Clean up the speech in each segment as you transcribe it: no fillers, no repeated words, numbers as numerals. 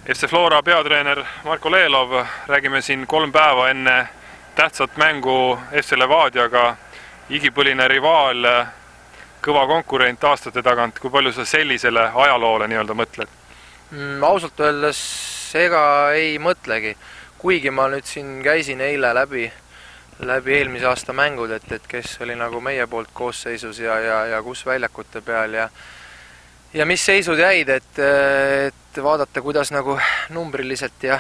FC Flora peatreener Marko Lelov, räägime siin 3 päeva enne tähtsat mängu FC Levadiaga, igipõline rivaal, kõva konkurent aastate tagant. Kui palju sa sellisele ajaloole nii-öelda mõtled? Ausalt öeldes ega ei mõtlegi, kuigi ma nüüd siin käisin eile läbi eelmise aasta mängud, et kes oli nagu meie poolt koosseisus ja kus väljakute peal ja mis seisud jäid, et vaadata, kuidas nagu numbriliselt ja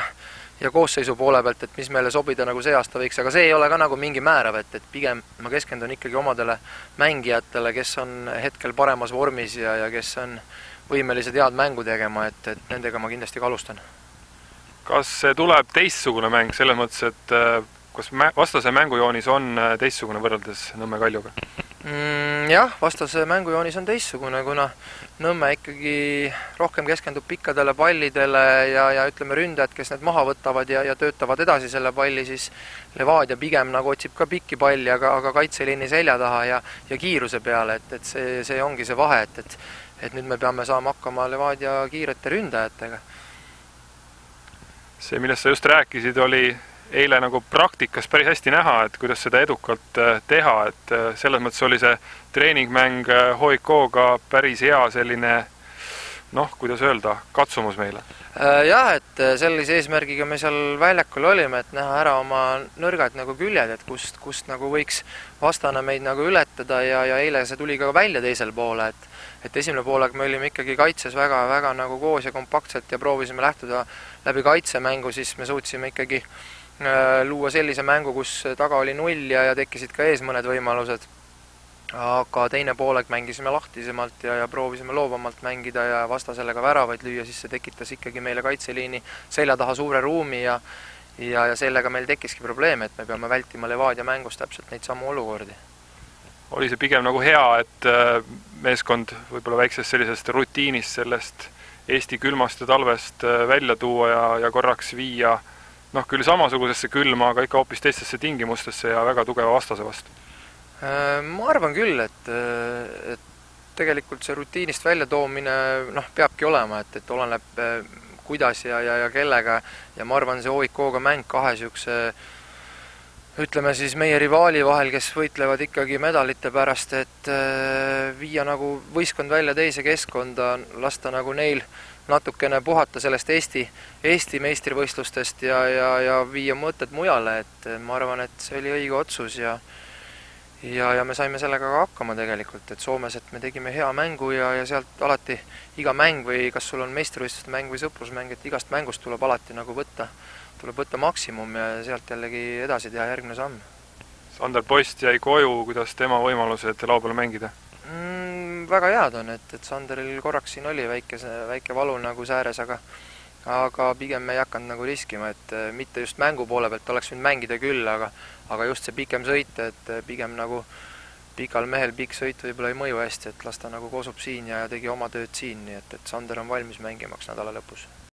koosseisu poole pealt, et mis meile sobida nagu see aasta võiks, aga see ei ole ka nagu mingi määrav, et pigem ma keskendun ikkagi omadele mängijatele, kes on hetkel paremas vormis ja kes on võimelised head mängu tegema, et nendega ma kindlasti ka alustan. Kas see tuleb teistsugune mäng selles mõttes, et kas vastase mängujoonis on teistsugune võrreldes Nõmme Kaljuga? Jah, vastase mängujoonis on teistsugune, kuna Nõmme ikkagi rohkem keskendub pikkadele pallidele ja ütleme ründajad, kes need maha võtavad ja töötavad edasi selle palli, siis Levadia pigem nagu otsib ka pikki palli, aga kaitseliini selja taha ja kiiruse peale, et see ongi see vahe, et nüüd me peame saama hakkama Levadia kiirete ründajatega. See, millest sa just rääkisid, oli eile nagu praktikas päris hästi näha, et kuidas seda edukalt teha, et selles mõttes oli see treeningmäng HIK-ga päris hea selline, kuidas öelda, katsumus meile. Jah, et sellise eesmärgiga me seal väljakul olime, et näha ära oma nõrgad nagu küljed, et kust nagu võiks vastane meid nagu ületada ja eile see tuli ka välja teisel poole, et esimene poolega me olime ikkagi kaitses väga nagu koos ja kompaktselt ja proovisime lähtuda läbi kaitsemängu, siis me suutsime ikkagi luua sellise mängu, kus taga oli 0 ja tekkisid ka ees mõned võimalused. Aga teine pooleg mängisime lahtisemalt ja proovisime loovamalt mängida ja vastasele ka väravaid lüüa, siis see tekitas ikkagi meile kaitseliini selja taha suure ruumi ja sellega meil tekkiski probleem, et me peame vältima Levadia mängus täpselt neid samu olukordi. Oli see pigem nagu hea, et meeskond võib-olla väiksest sellisest rutiinist sellest Eesti külmast ja talvest välja tuua ja korraks viia küll samasugusesse külma, aga ikka hoopis teistesse tingimustesse ja väga tugeva vastase vastu? Ma arvan küll, et tegelikult see rutiinist välja toomine peabki olema, et oleneb kuidas ja kellega ja ma arvan, see HIK-ga mäng kahe siukse ütleme siis meie rivaali vahel, kes võitlevad ikkagi medalite pärast, et viia nagu võistkond välja teise keskkonda, lasta nagu neil natukene puhata sellest Eesti meistrivõistlustest ja viia mõtted mujale, et ma arvan, et see oli õige otsus ja me saime sellega ka hakkama tegelikult, et Soomes, et me tegime hea mängu ja sealt alati iga mäng või kas sul on meistrivõistluste mäng või sõprusmäng, et igast mängust tuleb alati nagu tuleb võtta maksimum ja sealt jällegi edasi teha järgmine samm. Sander Post jäi koju, kuidas tema võimalused lao peale mängida? Väga head on, et Sanderil korraks siin oli väike valu nagu sääres, aga pigem me ei hakanud nagu riskima, et mitte just mängu poole pealt oleks võinud mängida küll, aga just see pikem sõit, et pigem nagu pikal mehel pikk sõit võib-olla ei mõju hästi, et las ta nagu kosub siin ja tegi oma tööd siin, nii et Sander on valmis mängimaks nädala lõpus.